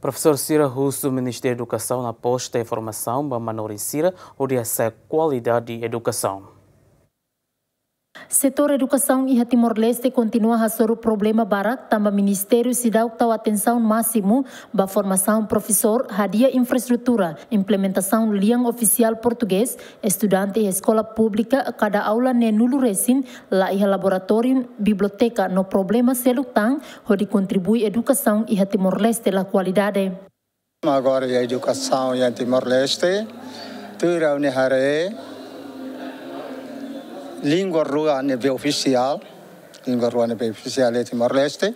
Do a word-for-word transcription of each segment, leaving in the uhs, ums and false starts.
Profesór sira husu Ministériu Edukasaun aposta iha formasaun ba manorin sira hodi hasa'e kualidade edukasaun. Setór edukasaun iha Timor-Leste kontinua hasoru problema barak, tanba ministériu seidauk tau atensaun másimu ba formasaun profesór, hadi'a infraestrutura, implementasaun lian ofisiál portugés, estudante iha eskola públika kada aula neen-nulu resin, la iha laboratóriu, biblioteka no problema seluk tan hodi kontribui edukasaun iha Timor-Leste la kualidade. Agora iha edukasaun iha Timor-Leste, tuir ha'u-nia haree, língua rua ne'ebé ofisiál, língua rua ne'ebé ofisiál iha Timor-Leste.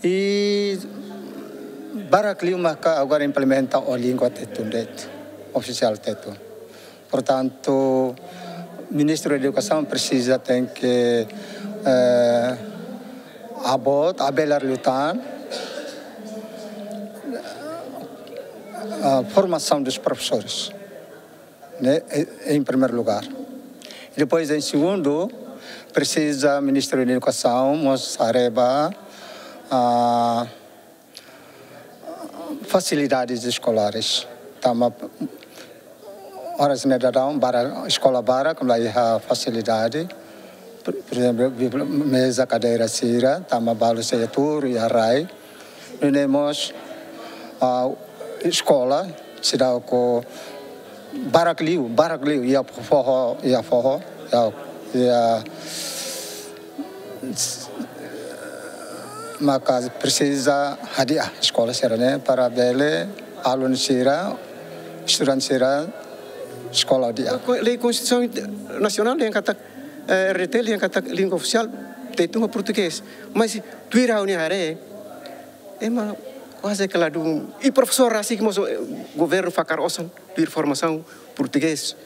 I barak liu maka agora implementa ho língua Tetun de'it, ofisiál Tetun. Portantu, Ministériu Edukasaun presiza tenke, eh, abot, abelar liután, a formação dos professores, né? Em, em primeiro lugar. E depois, em segundo, presiza Ministériu Edukasaun mós haree ba, ah, fasilidades escolares. Tanba oras ne'e daudaun barak, eskola barak la iha fasilidade. Por, por ezemplu, bibli-, meza, kadeira sira, tanba balu sei tuur iha rai. Nune'e mós, ah, eskola seidauk barak liu, barak liu, iha foho, iha foho, iha, iha maka presiza hadi'a eskola sira-ne'e para bele alunu sira, estudante sira, eskola hadi'a. Ko-, lei Konstituisaun Inter-, Nasionál dehan katak, eh, R D T dehan katak língua ofisiál Tetun ho Portugés. Mas tuir ha'u-nia haree, ema kuaze ke ladún. I profesór rasik mós, eh, governu fakar osan tuir formasaun portugés.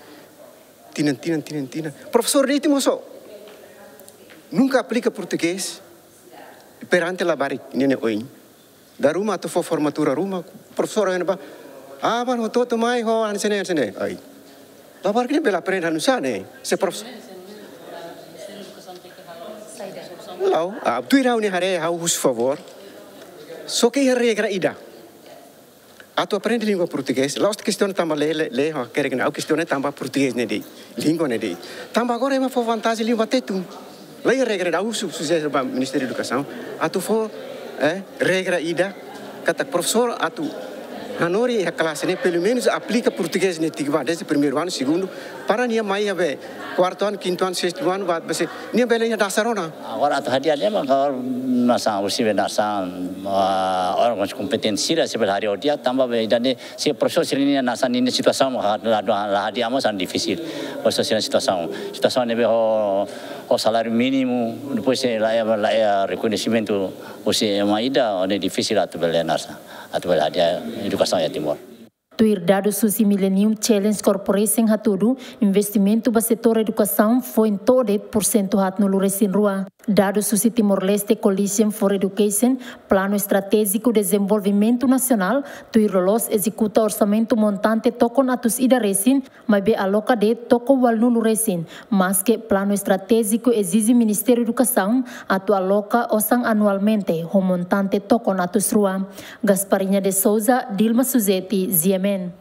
Tinan, tinan, tinan, tinan. Profesór de'it mós nunka aplika portugés perante labarik, ne'e ne'e oin. Dala ruma atu fó formatura ruma, profesór hanoin ba, ah, mano, hotu-hotu mai ho, hanesan ne'e, hanesan ne'e. Ai. Labarik ne'e bele aprende hanesan ne'e. Se profesór. La'o, ah, tuir ha'u-nia haree, ha'u husu favór. Só ke iha regra ida. Atu aprende língua portugés, la'ós kestiona tanba lei, lei, lei, hakerek ne'e, ha'u kestiona tanba portugés ne'e de'it, língua ne'e de'it. Tanba agora ema fó vantajen língua Tetun. La iha regra ida, ha'u husu, sujere ba Ministériu Edukasaun, atu fó, eh, regra ida, katak profesór atu hanorin iha klase ne'e, pelumenus aplika portugés ne'e tiha ba, desde primeiru anu, segundu, para nia mai iha be kuartu anu, kintu anu, sestu anu, ba, ba se, nia bele iha dasar ona. Agora atu hadi'a ne'e mak agora nasaun, husi be nasaun, ah, órgauns kompetentes sira sei bele hadi'a ho di'ak, tanba be ida-ne'e, se profesór sira-nia nasaun, ninia situasaun, la, la, la hadi'a mós difisil. Profesór sira-nia situasaun, situasaun ne'ebé ho, ho saláriu mínimu, depois sei la iha, la iha rekoñesimentu husi ema ida, ne'e difisil atu bele nasaun, atu bele hadi'a edukasaun iha Timor. Tuir dadus husi Millennium Challenge Corporation hatudu, investimentu ba setór edukasaun foin to'o de'it porsentu haatnulu resin rua. Dadus husi Timor-Leste Coalition for Education, Planu Estratéjiku Dezenvolvimentu Nasionál, tuir loloos ezekuta orsamentu montante tokon atus ida resin, maibé aloka de'it tokon ualunulu resin, maske planu estratéjiku ezije Ministériu Edukasaun atu aloka osan anualmente ho montante tokon atus rua. Gasparinha de Souza, Dilma Suzeti, G M N.